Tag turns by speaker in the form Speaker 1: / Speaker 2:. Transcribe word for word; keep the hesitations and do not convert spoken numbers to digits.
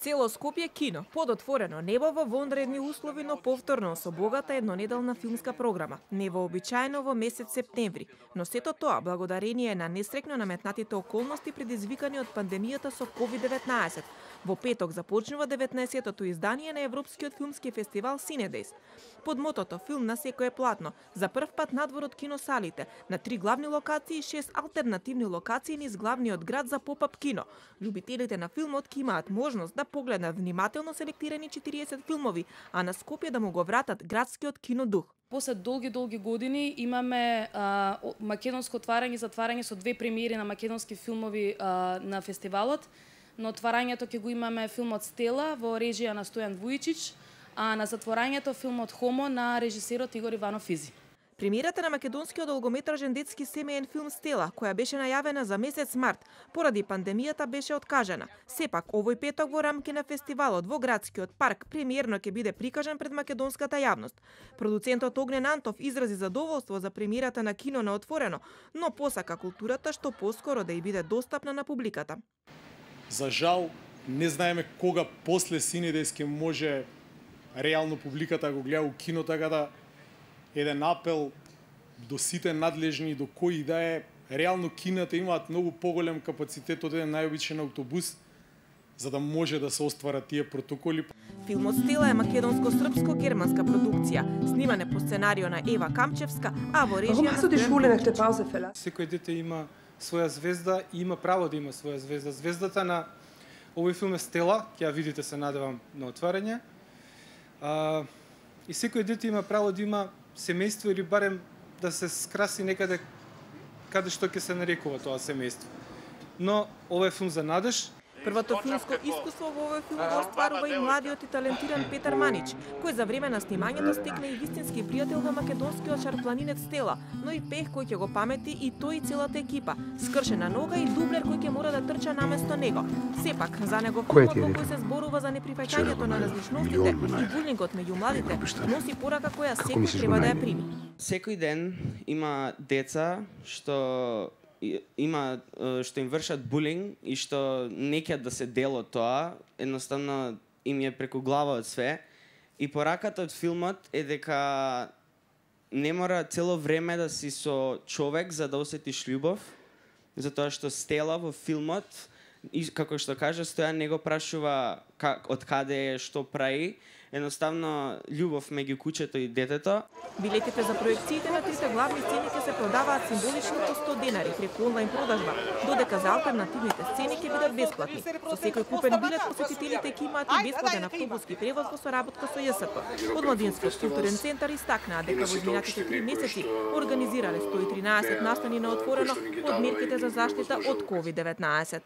Speaker 1: Цело Скопје кино, под отворено небо во вонредни услови, но повторно со богата еднонеделна филмска програма, невообичаено во месец септември, но сето тоа благодарение на нестрекно наметнатите околности предизвикани од пандемијата со ковид деветнаесет. Во петок започнува деветнаесеттото издание на Европскиот филмски фестивал Cinedejs. Под мотото "Филм на секое платно", за прв пат надвор од киносалите, на три главни локации и шест алтернативни локации низ главниот град за поп-ап кино. Љубителите на филмот ќе имаат можност да погледнат внимателно селектирани четириесет филмови, а на Скопје да му го вратат градскиот кинодух.
Speaker 2: После долги-долги години имаме а, македонско отварање и затварање со две премиери на македонски филмови а, на фестивалот. На отварањето ќе го имаме филмот Стела во режија на Стојан Вујчич, а на затворањето филмот Хомо на режисерот Игор Иванов Физи.
Speaker 1: Премиерата на македонскиот долгометражен детски семеен филм Стела, која беше најавена за месец март, поради пандемијата беше откажана. Сепак, овој петок во рамки на фестивалот во градскиот парк премиерно ќе биде прикажан пред македонската јавност. Продуцентот Огнен Антов изрази задоволство за премиерата на кино на отворено, но посака културата што поскоро да ја биде достапна на публиката.
Speaker 3: За жал, не знаеме кога после Cinedejs ќе може реално публиката да го гледа у кино, така да еден апел до сите надлежни, до кои да е, реално кината имаат многу поголем капацитет од еден најобичен автобус, за да може да се остварат тие протоколи.
Speaker 1: Филмот Стела е македонско-српско-германска продукција, снимане по сценарио на Ева Камчевска, а во режија на
Speaker 4: Секој дете има своја звезда и има право да има своја звезда. Звездата на овој филм е Стела, ќе ја видите, се надевам, на отварање. А, и секој дете има право да има семејство или барем да се скраси некаде каде што ќе се нарекува тоа семејство. Но ова е филм за надеж.
Speaker 1: Првото филмско искуство во овој филм го остварува и младиот и талентиран Петар Манич, кој за време на снимањето стекна и вистински пријател на македонскиот шарпланинец Стела, но и пех кој ќе го памети и тој и целата екипа, скршена нога и дублер кој ќе мора да трча наместо него. Сепак, за него филмот во кој се зборува за неприфаќањето на различностите и булингот меѓу младите, носи порака која секој треба да ја прими.
Speaker 5: Секој ден има деца што има што им вршат булинг и што не ќе да се дел од тоа, едноставно им е преку глава од све. И пораката од филмот е дека не мора цело време да си со човек за да осетиш љубов, затоа што Стела во филмот, и како што кажа, Стојан не го прашува как, од каде е, што прави, едноставно љубов меѓу кучето и детето.
Speaker 1: Билетите за проекциите на трите главни сцени ќе се продаваат символично по сто денари преку онлайн продажба, додека за алтернативните сцени ќе бидат бесплатни. Со секој купен билет посетителите ќе имаат и бесплатен автобуски превоз во соработка со Ја С П. Од Младинскиот културен центар истакнаа дека во изминатите три месеци организирале сто и тринаесет настани на отворено од мерките за заштита од ковид деветнаесет.